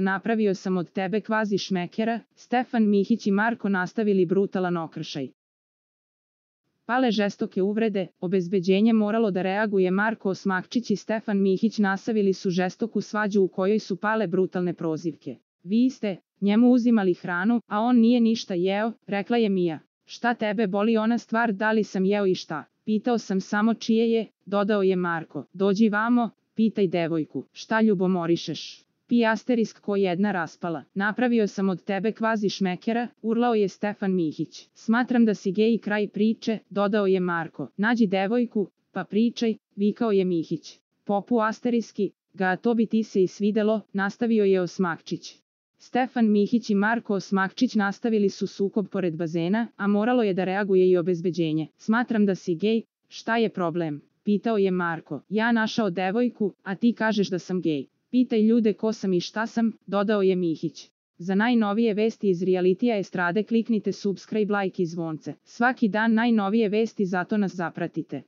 napravio sam od tebe kvazi šmekera, Stefan Mihić i Marko nastavili brutalan okršaj. Pale žestoke uvrede, obezbeđenje moralo da reaguje. Marko Osmakčić i Stefan Mihić nastavili su žestoku svađu u kojoj su pale brutalne prozivke. Vi ste njemu uzimali hranu, a on nije ništa jeo, rekla je Mija. Šta tebe boli ona stvar da li sam jeo i šta? Pitao sam samo čije je, dodao je Marko. Dođi vamo, pitaj devojku, šta ljubomorišeš? Pi** ko jedna raspala. Napravio sam od tebe kvazi šmekera, urlao je Stefan Mihić. Smatram da si gej, kraj priče, dodao je Marko. Nađi devojku, pa pričaj, vikao je Mihić. Popu **, ga to bi ti se i svidelo, nastavio je Osmakčić. Stefan Mihić i Marko Osmakčić nastavili su sukob pored bazena, a moralo je da reaguje i obezbeđenje. Smatram da si gej, šta je problem? Pitao je Marko. Ja našao devojku, a ti kažeš da sam gej. Pitaj ljude ko sam i šta sam, dodao je Mihić. Za najnovije vesti iz realitija estrade kliknite subscribe, like i zvonce. Svaki dan najnovije vesti, zato nas zapratite.